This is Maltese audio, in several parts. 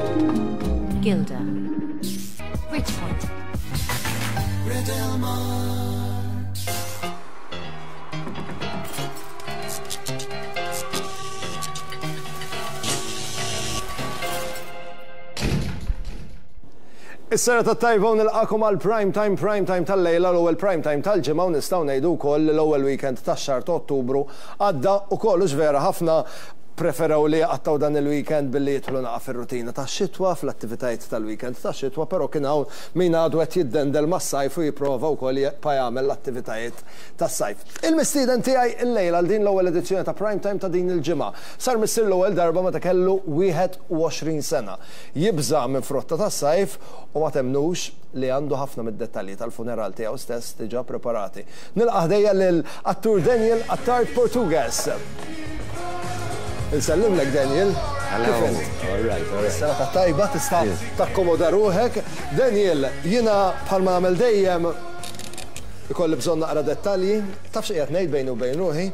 Gilda. Bridgepoint. Is-serata t-tajba u nilqakom għal prime time prime time tal-lejla l-ewwel prime time tal-ġimgħa u nistgħu ngħidu wkoll li l-ewwel weekend tax-xahar ta' Ottubru għadda ukoll hux vera ħafna Preferew li jqattgħu dan il-weekend billi jidħlu naqa' fir-rutina tax-xitwa, fl-attivitajiet tal-weekend tax-xitwa, però kien hawn min għadu qed jiddendel mas-sajf u jipprova wkoll jibqa' jagħmel l-attivitajiet tas-sajf. Il-mistieden tiegħi llejla għal din l-ewwel edizzjoni ta' Prime Time ta' din il-ġimgħa, sar missier l-ewwel darba meta kellu 21 sena. Jibża' minn frotta tas-sajf u ma temmnux li għandu ħafna mid-dettalji tal-funeral tiegħu stess diġà preparati. Nilqa' ħdejja lil attur Daniel Attard Portugues. Insellimlek Daniel. Hello. All right, all right. Serata tajba tista' takkomoda ruħek. Daniel, jiena bħalma nagħmel dejjem ikolli bżonn naqra dettalji. Taf x'qiegħed ngħid bejni u bejn ruħi?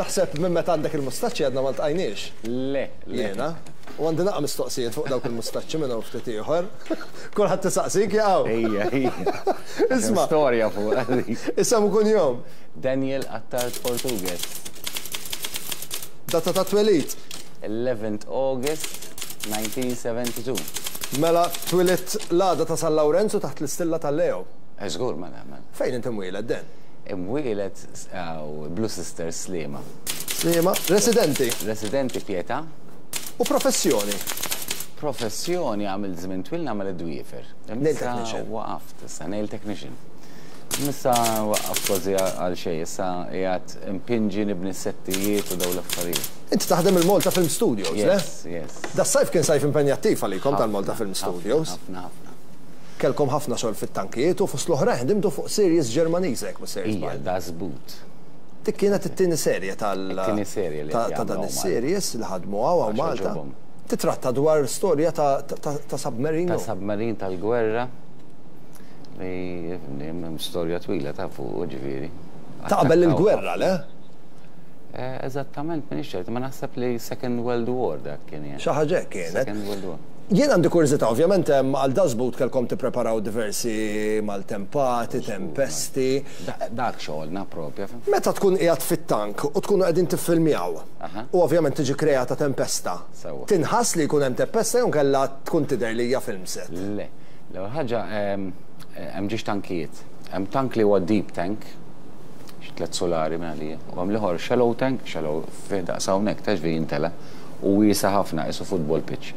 Naħseb minn meta għandek il-mustaċċi għadna ma ltqajniex. Le, le. Jiena. U għandi naqa' mistoqsijiet fuq dawk il-mustaċċi minn hawn ftit ieħor. Kulħadd isaqsik jaqgħu. Ejja, ejja. Isma'. Storja fuq. Isem u kunjom. Daniel Attard Portugues. Data ta' twelid. 11th August 1972. Mela twilidt l-għada ta' San Lawrenzu taħt l-istilla ta' Leo. Eh, żgur, mela, mela. Fejn int imwieled, Dan? Imwieled Blue Sisters Sliema. Sliema. Residenti? Residenti Pietà. U professjoni? Professjoni għamilt żmien twil nagħmel id-dwiefer. Nail technician. Waqaft issa, nail technician. Issa waqqaft kważi għal xejn, issa qiegħed impinġi nibni s-settijiet u dawn l-affarijiet. Inti taħdem il-Malta Film Studios, le? Yes, yes. Das-sajf kien sajf impenjattiv għalikom tal-Malta Film Studios. Ħafna, ħafna. Kellkom ħafna xogħol fit-tankijiet u fost l-oħrajn ħdimtu fuq series Ġermaniża jekk mhux sejjer żball. Ija, Das Boot. Dik kienet it-tieni serje tal. It-tieni serje li ta' dan is-series li ħadmu hawn hawn Malta. Titratta dwar storja ta' submarine. Ta' submarine tal-gwerra. Li hemm storja twila ta' fuq, ġifieri. Ta' qabel il-gwerra, le? Eh, eżattament, m'iniex ċert, ma naħseb li Second World War dak kien. Xi ħaġa hekk kienet. Second World War. Jien għandi kurżità, ovvjament hemm għal Das Boot kellkom tippreparaw diversi maltempati, tempesti. Dak xogħolna propja. Meta tkun qiegħed fit-tank u tkunu qegħdin tiffilmjaw u ovvjament tiġi kreata tempesta, tinħass li jkun hemm tempesta jew inkella tkun tidher li hija film set? Le. L-ewwel ħaġa hemm ġiex tankijiet. Hemm tank li huwa deep tank, xi tlett sulari minn għalija, u hemm l-ieħor shallow tank, shallow fih daqs hawnhekk ta' ġifieri jintela' u wiesa' ħafna qisu football pitch.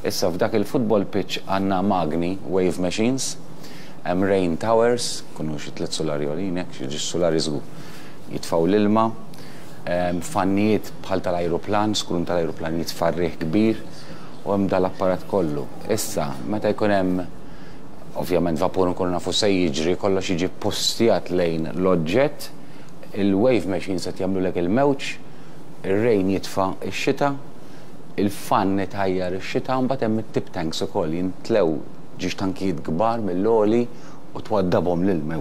Issa f'dak il-football pitch għandna magni, wave machines, hemm rain towers, ikunu xi tlett sulari għoljin hekk, xi ġiex sulari żgur. Jitfgħu l-ilma, hemm fannijiet bħal tal-ajruplan, skrun tal-ajruplan jitfa' r-riħ kbir u hemm dal-apparat kollu. Issa, meta jkun hemm ovvjament vapur nkunu nafu se jiġri, kollox jiġi ppustjat lejn l-oġġett, il-wave machines qed jagħmlulek il-mewġ, ir-rain jitfa' x-xita, il-fann itajjar ix-xita, u mbagħad hemm it-tip tanks ukoll jimtlew ġiex tankijiet kbar mill-għoli u twaddabhom l-ilma.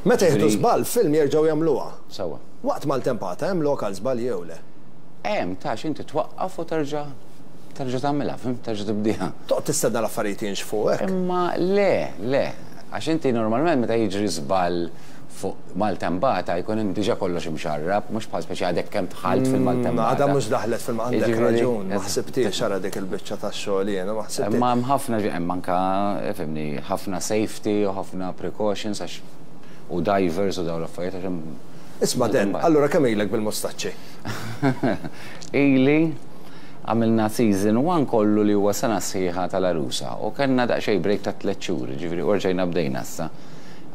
Meta jieħdu żball f'film jerġgħu jagħmluha. Sewwa. Waqt maltempata hemm lok għal żbalji jew le? Hemm, ta' x'inti twaqqaf u terġa' terġa' tagħmilha, fhimt? Terġa' tibdieha. Toqgħod tistenna l-affarijiet jinxfu hekk? Imma le, le. Għax inti normalment meta jiġri żball fuq maltempata jkun hemm diġà kollox imxarrab, mhux bħal speċi għadek kemm dħalt fil-maltempata. Għadha mhux daħlet fil għandek raġun, ma ħsibthiex ara dik il-biċċa tax-xogħol jiena, ma ħsibthiex. Imma hemm ħafna, hemm anke, fhimni, ħafna safety u ħafna precautions għax u divers u dawn l-affarijiet għax hemm. Isma' Dan, allura kemm ilek bil-mustaċċi? Ili għamilna season one kollu li huwa sena sħiħa tal-għarusa u kellna daqsxejn break ta' tlett xhur, jiġifieri u rġajna bdejna issa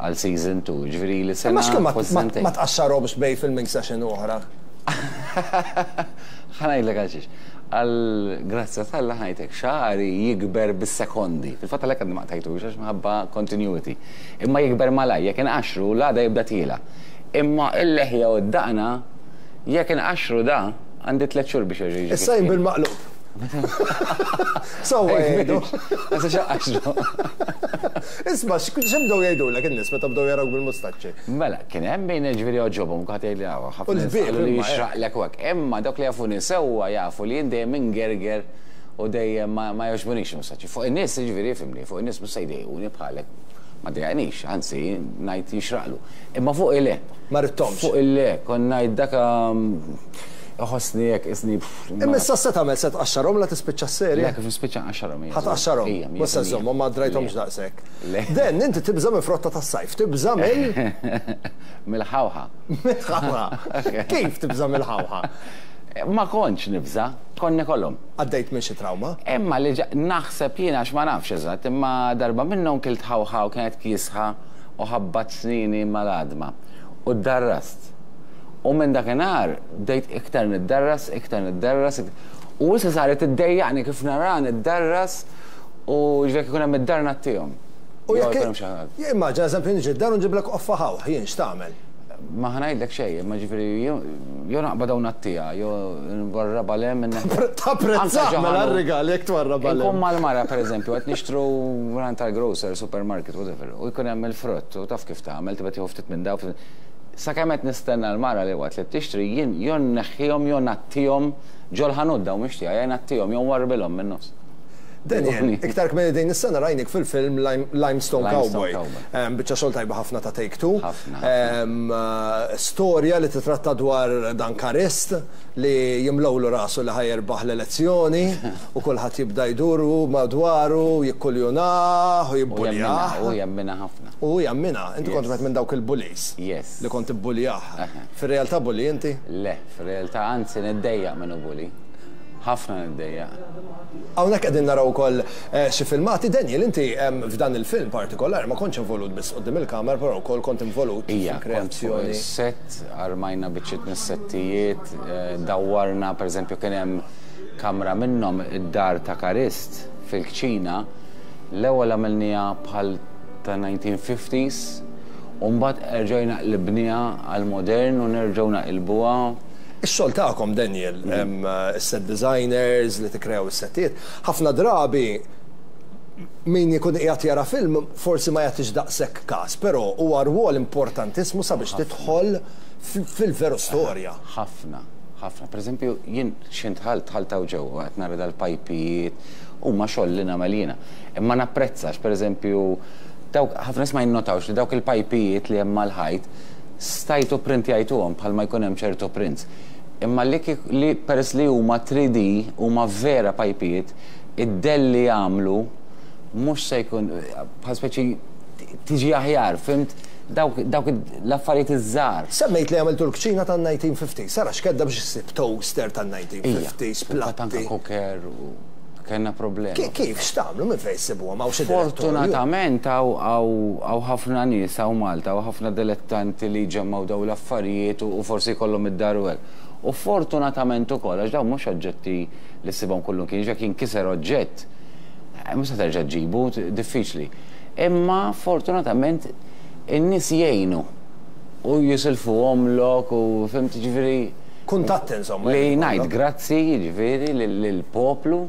għal season two, jiġifieri ili sena Imma x'kien kważi sentejn. ma tqaxxarhomx bejn filming session u oħra? Ħa ngħidlek għalxiex. Għall-grazzja t'Alla ħa ngħidlek, xagħri jikber bis-sekondi. Fil-fatt għalhekk għadni ma qtajtux għax minħabba continuity. Imma jikber malajr, jekk inqaxxru l-għada jibda tiela'. Imma l-leħja u d-daqna jekk inqaxxru da, għandi tlett xhur biex jerġa' jiġi kif Issa jien kien. bil-maqlub. Sewwa jgħidu. Ma tistax inqaxxru. Isma' x'bdew jgħidulek in-nies meta bdew jarawk bil-mustaċċi? Mela, kien hemm min jiġifieri għoġobhom, kulħadd jgħidli hawn, U ħafna nies l-ħbieb qalu li imma, eh. jixraqlek u hekk. Imma dawk li jafuni sewwa jafu li jien dejjem ingerger. U dejjem ma jogħġbunix il-mustaċċi. Fuq in-nies, jiġifieri ifhimni, fuq in-nies mhux se jdejquni bħalek. Ma ddejjaqnix, anzi ngħid jixraqlu. Imma fuqi le. Ma ridthomx. Fuqi le, kont ngħid dak iħossni hekk qisni. Imma issa x'se tagħmel? Se tqaxxarhom la tispiċċa s-serje? Le, kif nispiċċa nqaxxarhom, ija. Ħa tqaxxarhom? Ija, Mhux se żżommhom, ma drajthomx daqshekk. Le. Dan, inti tibża' minn frotta tas-sajf, tibża' mill? Mill-ħawħa. Mill-ħawħa. Kif tibża' mill-ħawħa? Ma kontx nibża', kont nikolhom. Għaddejt minn xi trawma? Imma li ġa, naħseb jien għax ma nafx eżatt, imma darba minnhom kilt ħawħa u kienet kiesħa u ħabbat snieni mal-għadma. U ddarrast. U minn dakinhar bdejt iktar niddarras, iktar niddarras, u issa saret iddejjaqni kif naraha niddarras u ġifieri jekk ikun hemm id-dar ngħattihom. U jekk Immaġina eżempju niġi d-dar u nġiblek qoffa ħawħ, jien x'tagħmel? Ma ħa ngħidlek xejn, imma ġifieri jew naqbadha u ngħattiha, jew nwarrabha 'l hemm. Tapprezzah mela r-rigal jekk twarrabha 'l hemm. Inkun mal-mara pereżempju qed nixtru mingħand tal-grocer, supermarket, whatever, u jkun hemm il-frott u taf kif tagħmel, tibda tieħu ftit minn dawn, ftit minn. Sakemm qed nistenna l-mara li waqt li tixtri jien jew nneħħihom jew ngħattihom ġol-ħanut dawn mhux tiegħi, ngħattihom jew nwarrbilhom min-nofs. Daniel, iktar kmieni din is-sena rajnik fil-film Limestone Cowboy. Biċċa xogħol tajba ħafna ta' Take Two. Storja li titratta dwar dan Karist li jimlewlu rasu li ħa jirbaħ l-elezzjoni u kulħadd jibda jdur madwaru, jikkuljunah u jibbuljah. U jemminha ħafna. U hu jemminha. Inti kont wieħed minn dawk il-bullies. Yes. Li kont tibbuljah. Fir-realtà bully inti? Le, fir-realtà anzi niddejjaq minnu bully. Ħafna niddejjaq. Hawnhekk qegħdin naraw ukoll xi filmati. Daniel, inti f'dan il-film partikolari ma kontx involut biss quddiem il-kamera, però wkoll kont involut fil-kreazzjoni. Ija, kont fuq is-sett, armajna biċċiet mis-settijiet, dawwarna, pereżempju kien hemm kamra minnhom id-dar ta' Karist fil-kċina, l-ewwel għamilniha bħal ta' 1950s u mbagħad erġajna qlibniha għall-modern u nerġgħu naqilbuha. Ix-xogħol tagħkom, Daniel, is-set designers li tikkreaw is-settijiet, ħafna drabi min ikun qiegħed jara film forsi ma jagħtix daqshekk każ, però huwa rwol importantissimu sabiex tidħol fil-veru storja. Ħafna, ħafna. Pereżempju, jien x'ħin dħalt, dħalt hawn ġewwa qed nara dal-pajpijiet, huma xogħol li nagħmel jiena. Imma napprezza għax pereżempju dawk ħafna nies ma jinnotawx li dawk il-pajpijiet li hemm mal-ħajt Stajtu pprintjajtuhom bħalma jkun hemm ċertu prints. Imma li kieku li peress li huma 3D, huma vera pajpijiet, id-dell li jagħmlu mhux se jkun bħal speċi tiġi aħjar, fhimt? Dawk dawk l-affarijiet iż-żgħar. Semmejt li għamiltu l-kċina tan-1950s. Sara x'kedda biex issib toaster tan-1950s, Ija, platti. anke cooker u Kellna problema. Kif, x'tagħmlu, minn fejn issibuhom? Hawn xi direttorju? Fortunatament hawn ħafna nies hawn Malta, hawn ħafna dilettanti li jġemmgħu dawn l-affarijiet u forsi jkollhom id-dar u hekk. U fortunatament ukoll għax dawn mhux oġġetti li ssibhom kullimkien, jiġifieri jekk jinkiser oġġett mhux se terġa' ġġibu, diffiċli. Imma fortunatament in-nies jgħinu u jisilfuhomlok u fhimt, jiġifieri. Kuntatti insomma. Li ngħid grazzi jiġifieri lill-poplu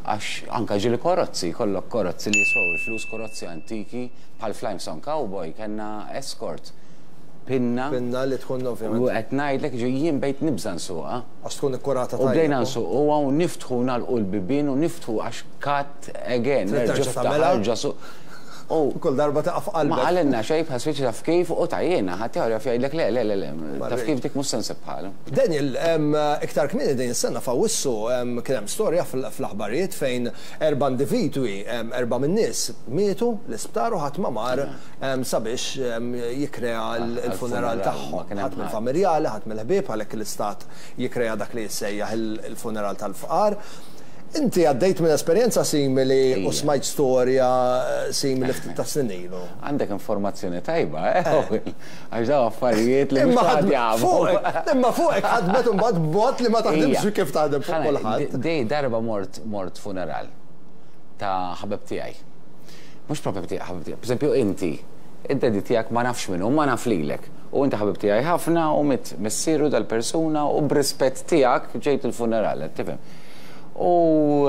għax anke ġieli karozzi, jkollok karozzi li jiswew il-flus, karozzi antiki, bħal f'Limestone Cowboy kellna Escort, pinna. Pinna li tkun ovvjament. U qed ngħidlek jiġifieri jien bdejt nibża' nsuqha. Għax tkun ikkurata tajjeb. U bdejna nsuquha u niftħu u nagħlqu l-bibien u niftħu għax cut again, nerġa' iftaħ, erġa' suq. U kull darba taqa' f'qalbek. Ma qalilna xejn bħal speċi taf kif u tgħajjirna, ħaddieħor jaf jgħidlek le, le, le, le, taf kif dik mhux se nsib bħalha. Daniel, iktar kmieni din is-sena f'Awwissu kien hemm storja fl-aħbarijiet fejn erba' individwi, erba' min-nies mietu l-isptar u ħadd ma mar sabiex jikkrea l-funeral tagħhom. Ħadd mill-familjali, ħadd mill-ħbieb għalhekk l-istat jikkrea dak li jissejjaħ il-funeral tal-fqar. Inti għaddejt minn esperjenza simili u smajt storja simili ftit ta' snin ilu. Għandek informazzjoni tajba, eh, Owen? Għax dawn affarijiet li mhux kulħadd jafu. Imma fuqek ħadmet imbagħad b'mod li ma taħdimx kif taħdem fuq kulħadd. Di darba mort mort funeral ta' ħabib tiegħi. Mhux propju ħabib tiegħi. Pereżempju inti, id-daddy tiegħek ma nafx min hu, ma naf lilek. U inti ħabib tiegħi ħafna u miet missieru dal-persuna u b'rispett tiegħek ġejt il-funeral, qed tifhem? U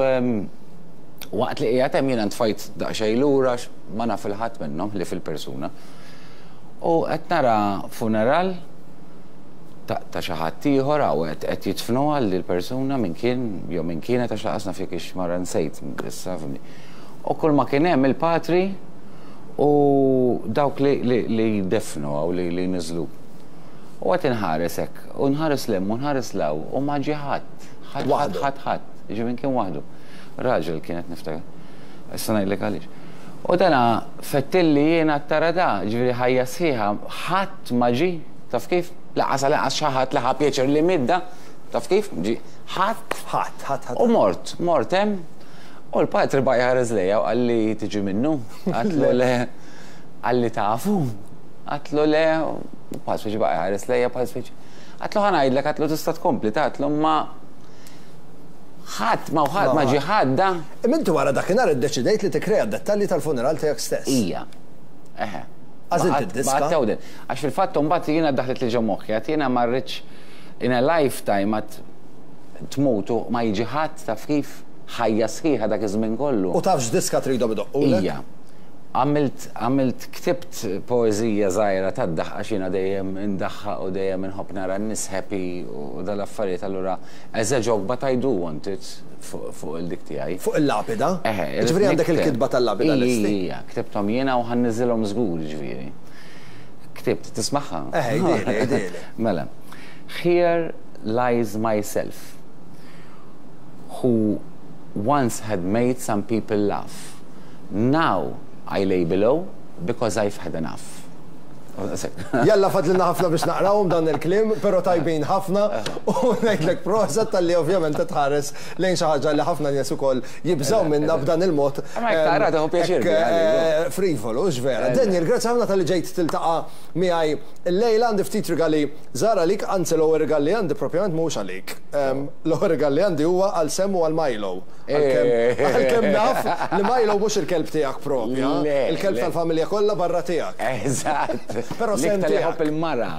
waqt li qiegħed hemm jiena ntfajt daqsxejn lura għax ma naf 'il ħadd minnhom ħlief il-persuna. U qed nara funeral Ta' xi ħadd ieħor hawn qed jidfnuha lill-persuna min kien jew min kienet għax lanqas naf jekk hix mara nsejt issa fhimni. U kull ma kien hemm il-patri u dawk li li jdeffnu hawn li li jniżżlu. U qed inħares hekk u nħares 'l hemm u nħares 'l hawn u ma ġie ħadd. Ħadd ħadd ħadd ħadd. Jiġifieri min kien waħdu. Raġel kienet niftakar. Issa ngħidlek għaliex. U dana fettilli jiena tara da, ġifieri ħajja sħiħa, ħadd ma ġie, taf kif? Lanqas għal inqas xi ħadd li ħa pjaċir li miet da, taf kif? Ġie, ħadd. Ħadd, ħadd, ħadd. U mort, mort hemm, u l-patri baqa' jħares lejja u qalli tiġi minnu? Għedtlu le. Qalli tafu? Għedtlu le, u bħal speċi baqa' jħares lejja bħal speċi. Għedtlu ħa ngħidlek, għedtlu tista' tkompli, ta' għedtlu imma ħadd ma ħadd ma ġie ħadd da. Imma inti wara dakinhar iddeċidejt li tikkrea d-dettalji tal-funeral tiegħek stess. Ija. Eħe. Għażilt id-diska. Għax fil-fatt imbagħad jiena daħlet li ġo moħħi, għad jiena ma rridx in a lifetime għad tmut u ma jiġi ħadd taf kif ħajja sħiħa dak iż-żmien kollu. U taf x'diska tridhom idoqqulek? Ija. Għamilt, għamilt, ktibt poeżija żgħira tad-daħq għax jiena dejjem indaħħaq u dejjem inħobb nara n-nies happy u dal-affarijiet allura as a joke but I do want it fuq il-dik tiegħi. Fuq il-lapida? Eħe. Jiġifieri għandek il-kitba tal-lapida lesti? Ija, ija, ktibthom jiena u ħa nniżżilhom żgur jiġifieri. Ktibt, tismagħha? Eħe, għidhieli, għidhieli. Mela. Here lies myself who once had made some people laugh. Now I lay below because I've had enough. Jalla fadlilna ħafna biex naqrawhom dan il-kliem, però tajbin ħafna u ngħidlek proset talli ovvjament qed tħares lejn xi ħaġa li ħafna nies ukoll jibżgħu minnha b'dan il-mod. Ma jekk taqra tieħu pjaċir biha. Frivolu, hux vera. Daniel, grazzi ħafna talli ġejt tiltaqa' miegħi Illejla għandi ftit rigali żgħar għalik, anzi l-ewwel rigal li għandi propjament mhuwiex għalik. L-ewwel rigal li għandi huwa għal Sam u għal Milo. Għalkemm naf li Milo mhux il-kelb tiegħek propja, il-kelb tal-familja kollha barra tiegħek. Eżatt. Però Sam tiegħek. L-iktar iħobb il-mara,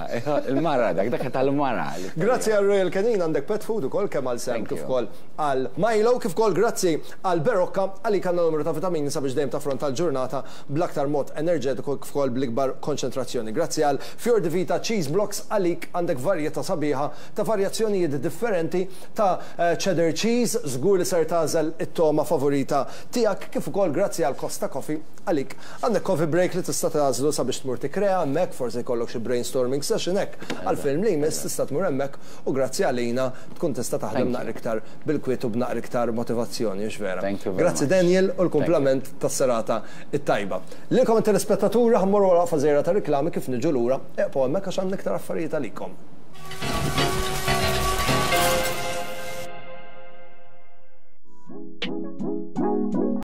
il-mara dak, dak tal-mara. Grazzi għal Royal Canin għandek pet food ukoll kemm għal Sam kif ukoll għal Milo, kif ukoll grazzi għal Berocca għalik għandna numru ta' vitamini sabiex dejjem taffronta l-ġurnata bl-aktar mod enerġetiku kif ukoll bl-ikbar konċentrazzjoni. Grazzi għal Fior di Vita Cheese Blocks għalik għandek varjetà sabiħa ta' varjazzjonijiet differenti ta' cheddar cheese, żgur li ser tagħżel it-togħma favorita tiegħek kif ukoll grazzi għal Costa Coffee għalik għandek coffee break li tista' tagħżlu sabiex tmur tikkrea hemmhekk, forsi jkollok xi brainstorming session hekk għall-film li jmiss tista' tmur hemmhekk u grazzi għalina tkun tista' taħdem naqra iktar bil-kwiet u b'naqra iktar motivazzjoni, hux vera? Grazzi Daniel u l-kumplament tas-serata t-tajba. Lilkom it-telespettaturi ħa mmorru għal waqfa żgħira ta' riklami kif niġu lura, eqgħu hemmhekk għax għandna iktar affarijiet għalikom.